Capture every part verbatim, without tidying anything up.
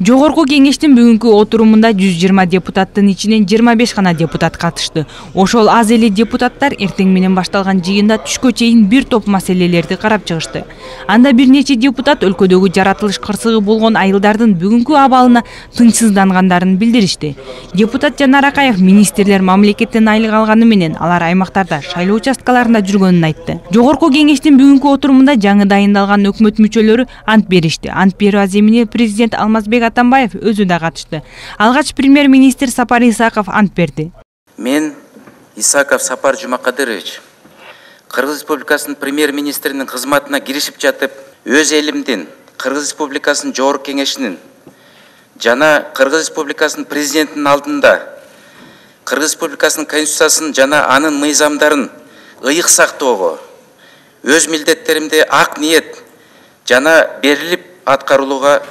Жогорку кеңештин бүгүнкү отурумунда жүз жыйырма депутаттын ичинен жыйырма беш гана депутат катышты. Ошол аз эле депутаттар эртең менен башталган жыйында түшкө чейин бир топ маселелерди карап чыгышты. Анда бир нече депутат өлкөдөгү жаратылыш кырсыгы болгон айылдардын бүгүнкү абалына тынчсыздангандарын билдиришти. Депутат Жанар Акаев министрлер мамлекеттен айлык алганы менен алар аймактарда шайлоо участкаларында жүргөнүн айтты. Жогорку кеңештин бүгүнкү отурумунда жаңы дайындалган өкмөт мүчөлөрү ант беришти. Ант берүү аземине президент Алмазбек Атамбаев өзү да катышты. Алгач премьер-министр Сапар Исаков ант берди. Мен Исаков Сапар Жумакадырович Кыргыз Республикасынын премьер-министринин кызматына киришип жатып, өз элимдин, Кыргыз Республикасынын Жогорку кеңешинин жана Кыргыз Республикасынын президентинин алдында Кыргыз Республикасынын конституциясын жана анын мыйзамдарын ыйык сактоого, өз милдеттеримди ак ниет жана берилип аткарууга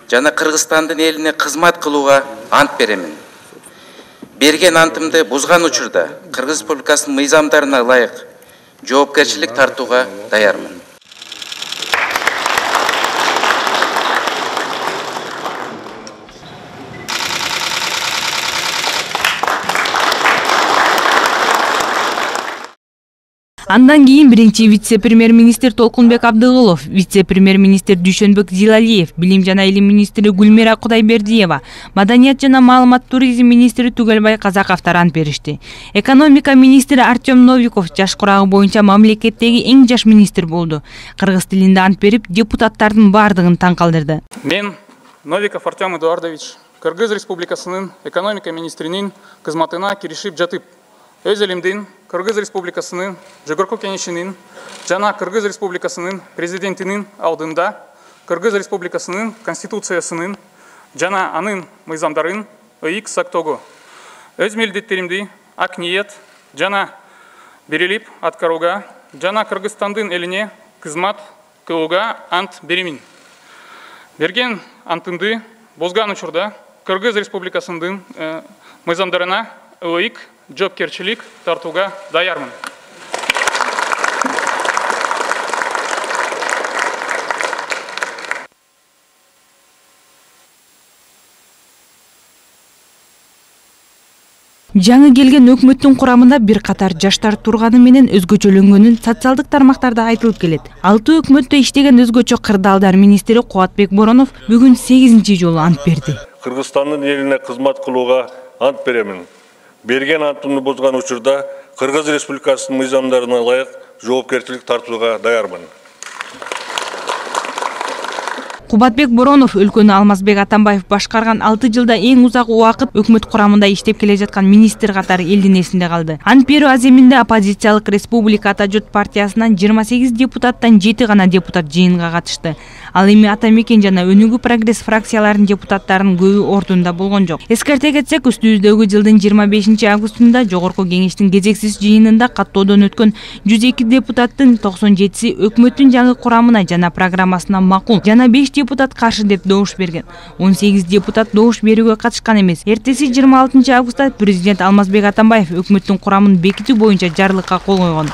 жана Кыргызстандын элине кызмат кылууга ант беремин. Берген антымды бузган учурда Кыргыз Республикасынын мыйзамдарына ылайык жоопкерчилик тартууга даярмын. Андан кийин биринчи вице-премьер-министр Толкунбек Абдыгулов, вице-премьер-министр Дүйшөнбек Зилалиев, билим жана илим министри Гүлмира Кудайбердиева, маданият жана маалымат туризм министри Түгелбай Казаковдор ант беришти. Экономика министри Артем Новиков жаш курагы боюнча мамлекеттеги эң жаш министр болду. Кыргыз тилинде ант берип, депутаттардын бардыгын таң калтырды. Мен Новиков Артем Эдуардович Кыргыз Республикасынын экономика министринин кызматына киришип жатып, өз элимдин, Кыргыз Республикасынын Жогорку кеңешинин жана Кыргыз Республикасынын президентинин алдында Кыргыз Республикасынын конституциясынын жана анын мыйзамдарын ыйык сактоого, өз милдеттеримди ак ниет жана берилип аткарууга жана Кыргызстандын элине кызмат кылууга ант беремин. Берген антымды бузган учурда Кыргыз Республикасынын мыйзамдарына ылайык жоопкерчилик тартууга даярмын. Жаңы келген өкмөттүн курамында бир катар жаштар турганы менен өзгөчөлөнгөнүн социалдык тармактарда айтылып келет. Алты өкмөттө иштеген өзгөчө кырдаалдар министри Кубатбек Боронов бүгүн сегизинчи жолу ант берди. Кыргызстандын элине кызмат кылууга ант беремин. Берген антымды бузган учурда Кыргыз Республикасынын мыйзамдарына ылайык жоопкерчилик тартууга даярмын. Кубатбек Боронов өлкөнү Алмазбек Атамбаев башкарган алты жылда эң узак убакыт өкмөт курамында иштеп келе жаткан министр катары элдин эсинде калды. Ант берүү аземинде оппозициялык Республика Ата журт партиясынан жыйырма сегиз депутаттан жети гана депутат жыйынга катышты. Ал эми Ата Мекен жана Өнүгүү прогресс фракцияларынын депутаттарынын көбү ордунда болгон жок. Эскерте кетсек, үстүбүздөгү жылдын жыйырма бешинчи августунда Жогорку кеңештин кезексиз жыйынында каттоодон өткөн жүз эки депутаттын токсон жетиси өкмөттүн жаңы курамына жана программасына макул, жана беш депутат каршы деп добуш берген. он сегиз депутат добуш берүүгө катышкан эмес. Эртеси жыйырма алтынчы августта президент Алмазбек Атамбаев өкмөттүн курамын бекитүү боюнча жарлыкка кол койгон.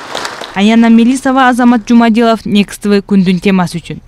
Аяна Мелисова, Азамат Жумадилов, Next тэ вэ күндүн темасы үчүн.